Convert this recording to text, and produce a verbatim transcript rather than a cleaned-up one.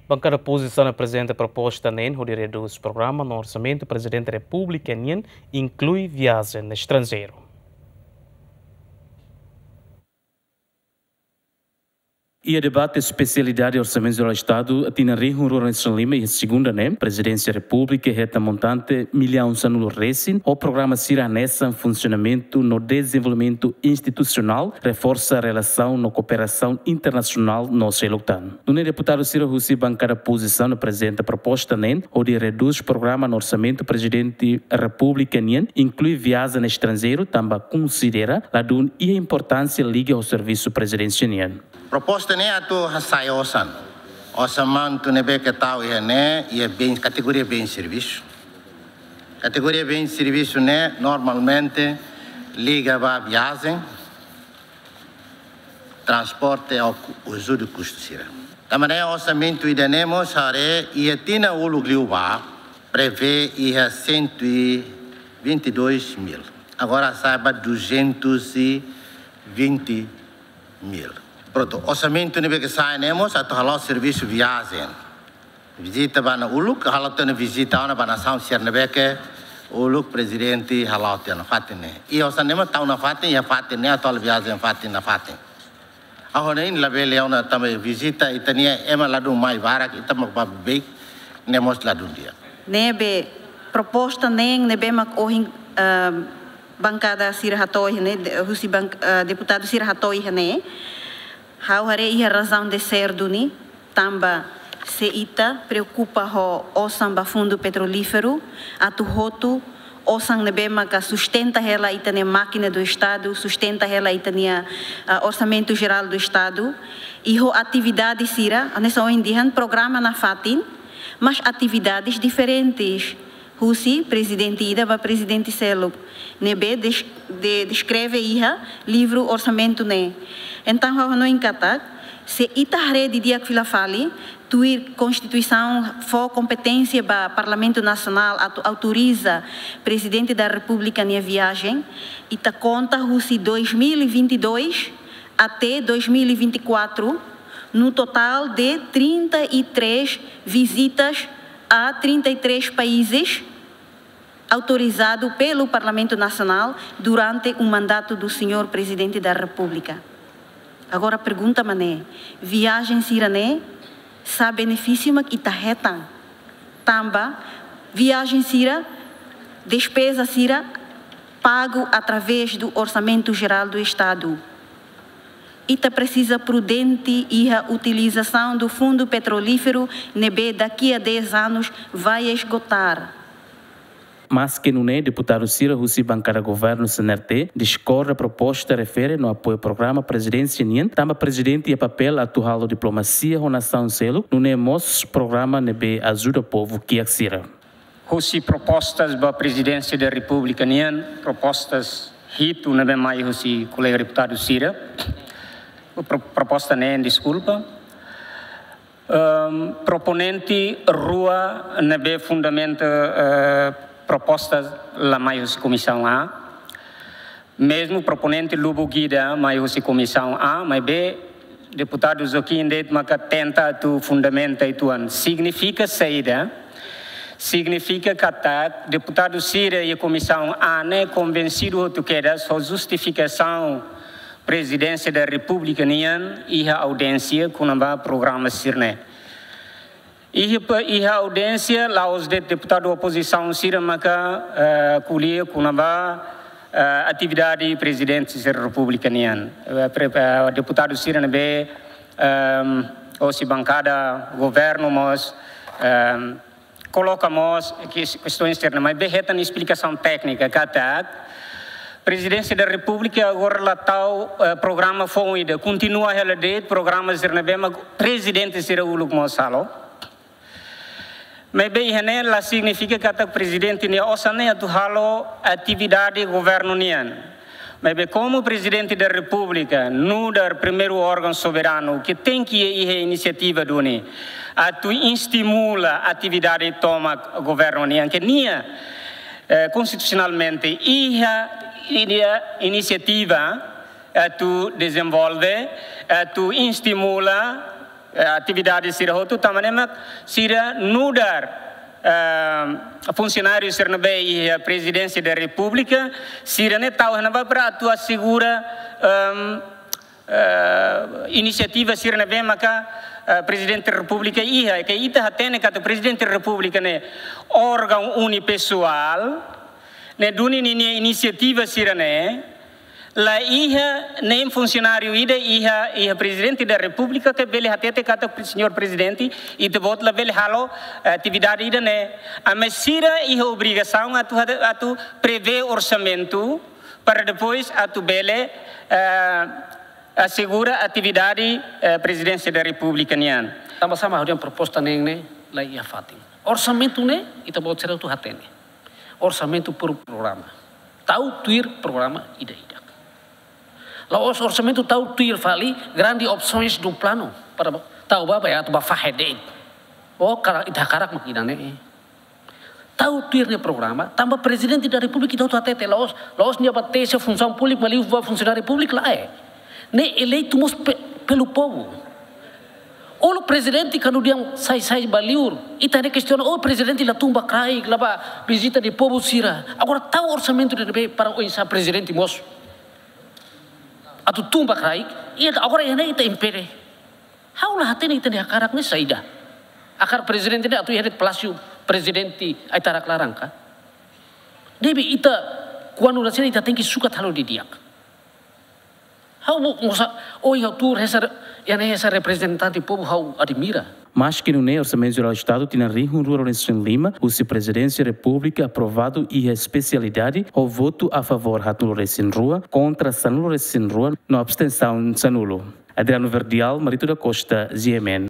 Bankada opozisaun aprezenta proposta neen hodi redús programa no orsamentu Prezidente Repúblika nian, inklui viajen estranjeiru. Iha debate espesialidade Orsamentu Jerál Estadu tinan rihun rua ruanulu-resin-lima iha segunda ne'e, Prezidénsia Repúblika hetan montante millaun sanulu-resin ho programa sira hanesan funsionamentu no dezenvolvimentu institusionál, reforsa relasaun no kooperasaun internasionál no seluk tan. Nune'e deputadu sira husi bankada opozisaun aprezenta proposta neen hodi redús programa no orsamentu Prezidente Repúblika nian, inklui viajen estranjeiru, tanba konsidera ladún iha importánsia liga ho servisu Prezidénsia nian. Proposta ne'e atu hasa'e osan. Osan mantu ne'ebé ke tau iha ne'e, iha bens, kategoria bens servisu. Kategoria bens servisu ne'e normalmente liga ba viajen, transporte ou ku-, ajuda kustu sira. Tanba ne'e orsamentu ida-ne'e mós haree iha tinan uluk liubá prevee iha cento e vinte e dois mil. Agora sai ba duzentos e vinte mil. Prontu, orsamentu ne'ebé ke sai ne'e mós atu hala'o servisu viajen. Vizita ba nasaun uluk, halo tiha ona vizita ona ba nasaun sira ne'ebé ke uluk Prezidente hala'o tiha ona fatin ne'e. Iha osan ne'e mós tau nafatin, iha fatin ne'e atu halo viajen fatin nafatin. Ha'u hanoin labele ona tanba vizita ita-nia ema ladún mai barak, ita mak ba beibeik, ne'e mós ladún di'ak. Ne'ebé proposta neen ne'ebé mak ohin, ah, bankada sira hato'o iha ne'e, de-, husi bank-, ah, deputadu sira hato'o iha ne'e. Ha'u haree iha razaun de ser duni, tanba se ita preokupa ho osan ba Fundu Petrolíferu, atu hotu osan ne'ebé maka sustenta hela ita-nia mákina do Estadu, sustenta hela ita-nia, ah, Orsamentu Jerál do Estadu, i ho atividade sira, hanesan ohin dehan programa nafatin, mas atividades diferentes. Husi prezidente ida ba prezidente seluk. Ne'ebé des-, de-, deskreve iha livru orsamentu ne'e. Entaun, ha'u hanoin katak, se ita haree didi'ak fila fali, tuir Konstituisaun fó kompeténsia ba Parlamentu Nasionál atu autoriza Prezidente da Repúblika nia viajen, ita konta husi dois mil e vinte e dois até dois mil e vinte e quatro, no total de trinta e três visitas a trinta e três países, autorizado pelo Parlamento Nacional durante o mandato do senhor Presidente da República. Agora pergunta mak ne'e, viajen sira-ne'e, sá benefísiu mak ita hetan? Tanba viajen sira, despeza sira, pago através do Orçamento Geral do Estado. Ita presiza prudente iha utilizasaun do Fundu Petrolíferu ne'ebé daqui a dez anos vai esgotar. Maske nune'e, deputadu sira husi bankada governu C N R T diskorda proposta refere no apoia programa prezidénsia nian, tanba prezidente iha papél atu halo diplomasia ho nasaun seluk, nune'e mós programa ne'ebé ajuda povu kiak sira. Husi propostas ba Prezidénsia da Repúblika nian, propostas hitu ne'ebé mai husi kolega deputadu sira. Pro-, proposta neen, deskulpa. Ehm, proponente rua ne'ebé fundamenta, eh, propostas la mai husi Komisaun A. Mezmu proponente lubuk ida mai husi Komisaun A, maibé deputadu Joaquim de'it maka tenta atu fundamenta uitoan. Signifika saida? Signifika katak deputadu sira iha Komisaun A ne'e konvensidu hotu kedas ho justifikasaun Prezidénsia da Repúblika nian iha audiénsia kona-ba programa sira-ne'e. Iha pa-, iha audiénsia, la'ós de'it deputadu opozisaun sira maka, eh, ko'alia kona-ba, eh, atividade Prezidente sira Repúblika nian. Eh, pre-, eh, deputadu sira ne'ebé, ehm, hosi bankada governu mós, ehm, koloka mós kes-, kestaun sira-ne'e, maibé hetan esplikasaun téknika katak Prezidénsia da Repúblika agora la tau, eh, programa foun ida, kontinua hela de'it programa sira ne'ebé mak prezidente sira uluk mós halo. Maibé iha ne'e la signifika katak prezidente nia osan ne'e atu halo atividade governu nian. Maibé komu Prezidente da Repúblika, nu'udar primeiru órgaun soberanu, ke tenke iha inisiativa duni atu estimula atividade tomak governu nian, ke nia, eh, konstitusionalmente iha, iha inisiativa atu dezenvolve, atu estimula eh, atividade sira hotu, tanba ne'e mak sira nu'udar, eh, funsionáriu sira ne'ebé iha Prezidénsia da Repúblika, sira-ne'e tau iha ne'ebá para atu asegura, ehm, eh, inisiativa sira ne'ebé maka, eh, Prezidente Repúblika iha, ke ita hatene katak Prezidente Repúblika ne'e órgaun unipessoál, ne'e duni ninia inisiativa sira-ne'e, la iha nein funsionáriu ida iha, iha Prezidente da Repúblika ke bele hatete katak, "Señór Prezidente, ita-boot labele halo, eh, atividade ida-ne'e." Ami sira iha obrigasaun atu, atu prevee orsamentu para depois atu bele, eh, asegura atividade, eh, Prezidénsia da Repúblika nian. Tanba sá mak ha'u dehan proposta neen ne'e la iha fatin. Orsamentu ne'e, ita-boot sira hotu hatene. Orsamentu por programa. Tau tuir programa ida-idak. La'ós orsamentu tau tuir fali grande opções do plano para tau ba, ba atu ba fahe de'it. Oh, karik ita hakarak mak ida-ne'e. Tau tuir nia programa, tanba Prezidente da Repúblika ita hotu hatete, la'ós, la'ós nia ba tesi funsaun públika, ba liu ba funsionáriu públiku, lae. Ne'e eleitu mós pe-, pelo povo. Olo Prezidente kuandu dehan sai, sai ba liur, ita ne'e kestiona, "Oh, Prezidente la tun ba kraik, la ba vizita de povu sira." Agora tau orsamentu ne'ebé para oinsá Prezidente mós atu tun ba kraik, i agora iha ne'e ita impede. Ha'u la hatene ita-nia hakarak ne'e saida. Hakarak Prezidente ne'e atu iha de'it Palásiu Prezidente Aitarak laran ka? Debe ita, kuandu rasik ita tenke sukat halo didi'ak. Ha'u bo-, mosa, oh, ha'u tuur hanesan, iha ne'e hanesan reprezentante povu ha'u admira. Maski nune'e, Orsamentu Jerál Estadu tinan rihun rua ruanulu-resin-lima, husi Prezidénsia Repúblika aprovadu iha espesialidade, ho votu a favór haatnulu-resin-rua, kontra sanulu-resin-rua, no abstensaun sanulu. Adriano Verdial, Marito da Costa, G M N.